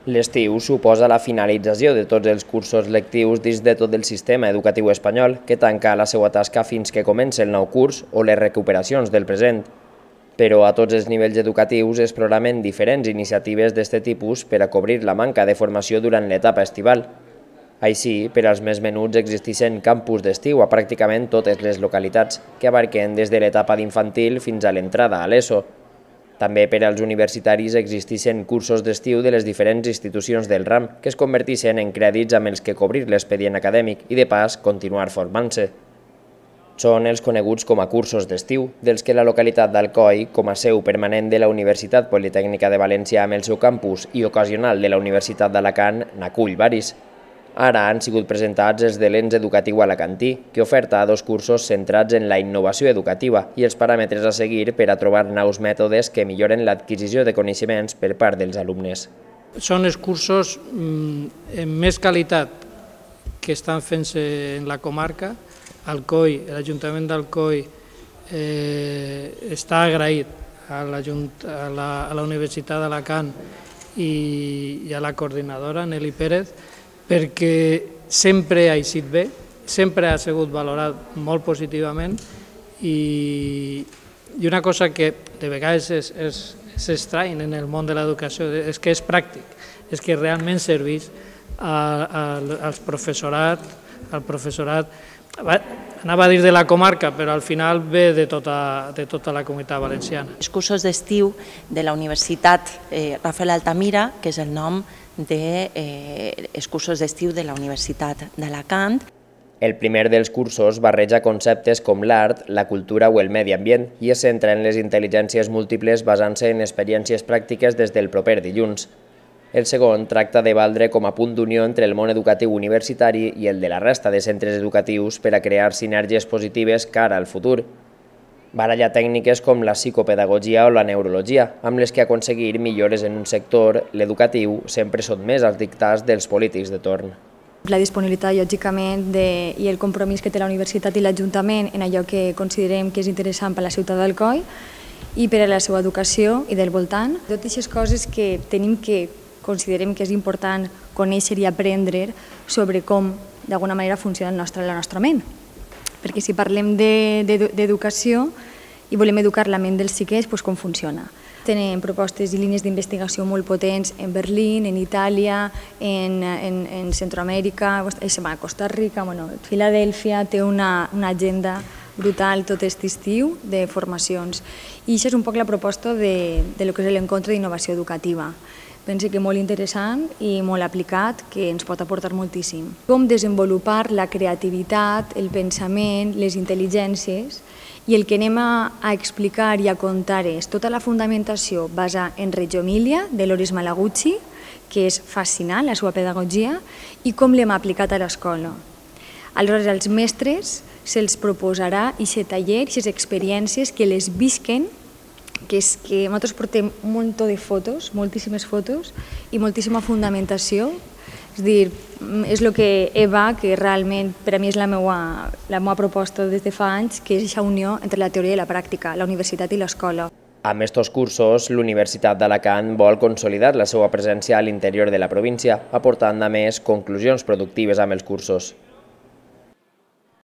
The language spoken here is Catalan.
L'estiu suposa la finalització de tots els cursos lectius dins de tot el sistema educatiu espanyol, que tanca la seva tasca fins que comenci el nou curs o les recuperacions del present. Però a tots els nivells educatius es programen diferents iniciatives d'aquest tipus per a cobrir la manca de formació durant l'etapa estival. Així, per als més menuts existeixen campus d'estiu a pràcticament totes les localitats, que abarquen des de l'etapa d'infantil fins a l'entrada a l'ESO. També per als universitaris existeixen cursos d'estiu de les diferents institucions del RAM que es converteixen en crèdits amb els que cobrir l'expedient acadèmic i, de pas, continuar formant-se. Són els coneguts com a cursos d'estiu, dels que la localitat d'Alcoi, com a seu permanent de la Universitat Politècnica de València amb el seu campus i ocasional de la Universitat d'Alacant, n'acull varis. Ara han sigut presentats els de l'Ens Educatiu Alacantí, que oferta dos cursos centrats en la innovació educativa i els paràmetres a seguir per a trobar nous mètodes que milloren l'adquisició de coneixements per part dels alumnes. Són els cursos amb més qualitat que estan fent-se en la comarca. Alcoi, l'Ajuntament d'Alcoi està agraït a la Universitat d'Alacant i a la coordinadora, Nelly Pérez, perquè sempre ha eixit bé, sempre ha sigut valorat molt positivament i una cosa que de vegades s'estrany en el món de l'educació és que és pràctic, és que realment serveix al professorat, anava a dir de la comarca, però al final ve de tota la comunitat valenciana. Els cursos d'estiu de la Universitat Rafael Altamira, que és el nom dels cursos d'estiu de la Universitat d'Alacant. El primer dels cursos barreja conceptes com l'art, la cultura o el medi ambient i es centra en les intel·ligències múltiples basant-se en experiències pràctiques des del proper dilluns. El segon tracta de valdre com a punt d'unió entre el món educatiu universitari i el de la resta de centres educatius per a crear sinergies positives cara al futur. Baralla tècniques com la psicopedagogia o la neurologia, amb les que aconseguir millores en un sector, l'educatiu, sempre són més als dictats dels polítics de torn. La disponibilitat, lògicament, i el compromís que té la universitat i l'Ajuntament en allò que considerem que és interessant per a la ciutat d'Alcoi i per a la seva educació i del voltant. Totes aquestes coses que considerem que és important conèixer i aprendre sobre com, d'alguna manera, funciona la nostra ment. Perquè si parlem d'educació i volem educar la ment dels xiquets, doncs com funciona. Tenen propostes i línies d'investigació molt potents en Berlín, en Itàlia, en Centroamèrica, a Costa Rica, Filadèlfia té una agenda brutal tot aquest estiu de formacions. I això és un poc la proposta de lo que és l'encontre d'innovació educativa. Penso que molt interessant i molt aplicat, que ens pot aportar moltíssim. Com desenvolupar la creativitat, el pensament, les intel·ligències, i el que anem a explicar i a contar és tota la fundamentació basada en Reggio Emilia, de Loris Malagucci, que és fascinant, la seva pedagogia, i com l'hem aplicat a l'escola. Aleshores, als mestres se'ls proposarà aquest taller, aquestes experiències que les visquen, que és que nosaltres portem un munt de fotos, moltíssimes fotos i moltíssima fundamentació. És a dir, és el que Eva, que realment per a mi és la meva proposta des de fa anys, que és aquesta unió entre la teoria i la pràctica, la universitat i l'escola. Amb aquests cursos, l'Universitat d'Alacant vol consolidar la seva presència a l'interior de la província, aportant a més conclusions productives amb els cursos.